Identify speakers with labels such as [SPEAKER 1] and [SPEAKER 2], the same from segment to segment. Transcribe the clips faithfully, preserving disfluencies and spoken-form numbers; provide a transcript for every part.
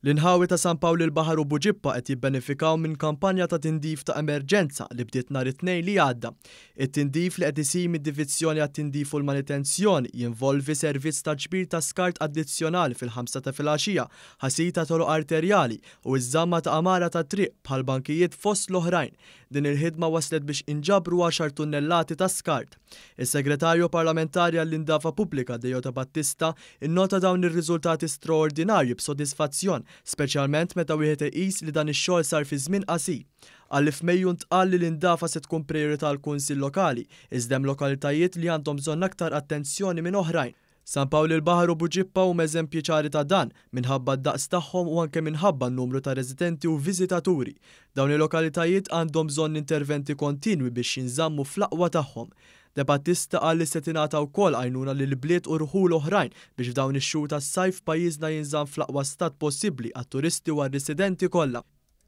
[SPEAKER 1] L-inħawi ta' San Pawl il-Baħar u Buġibba qed jibbenefikaw minn kampanja ta' tindif ta' emerġenza li bdiet nhar it-Tnejn li għadda. It-tindif li qed isir mid-Divizzjoni għat-Tindif u l-Manutenzjoni jinvolvi servizz ta' ġbir ta' skart addizzjonali fil-ħamsa ta' filgħaxija, ħasil ta' toroq arterjali u ż-żamma ta' għamara ta' triq bħal bankijiet fost l-oħrajn. Din il-ħidma waslet biex inġabru għaxar tunnellati ta' skart. Is-Segretarju Parlamentari għall-Indafa Pubblika Deo Debattista innota dawn ir-riżultati straordinarji b'sodisfazzjon, speċjalment meta wieħed iqis li dan ix-xogħol sar fi żmien qasir. Qal li f'Mejju ntqal li l-indafa se tkun prijorità għall-Kunsill Lokali, iżda hemm lokalitajiet li għandhom bżonn aktar attenzjoni minn oħrajn. San Pawl il-Baħar u Buġibba huma eżempji ċari ta' dan minħabba d-daqs tagħhom u anke minħabba n-numru ta' residenti u viżitaturi. Dawn il-lokalitajiet għandhom bżonn interventi kontinwi biex jinżammu fl-aqwa tagħhom. Debattista qal li se tingħata wkoll għajnuna lil bliet u rħul oħrajn biex f'dawn ix-xhur tas-sajf pajjiżna jinżamm fl-aqwa stat possibbli għat-turisti u għar-residenti kollha.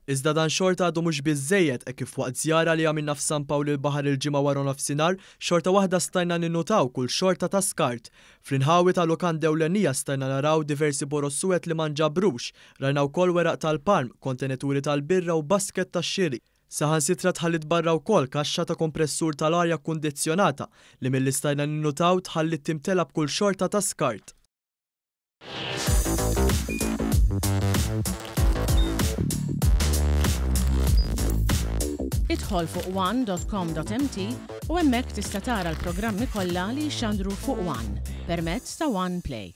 [SPEAKER 1] Iżda dan xorta għadu mhux biżżejjed hekk kif waqt żjara li għamilna f'San Pawl il-Baħar il-Ġimgħa wara nofsinhar, xorta waħda stajna ninnutaw kull xorta ta' skart. Fl-inħawi ta' lukanda ewlenija stajna naraw diversi boroż suwed li ma nġabrux, rajna wkoll weraq tal-palm, kontenituri tal-birra u basket tax-xiri. Saħansitra tħallit barra wkoll kaxxa ta' kompressur tal-arja kkundizzjonata li milli stajna ninnutaw tħallit timtela b'kull xorta ta' skart.
[SPEAKER 2] Idħol fuq one dot com dot m t u hemmhekk tista' tara l-programmi kollha li jxandru fuq One permezz ta' One Play.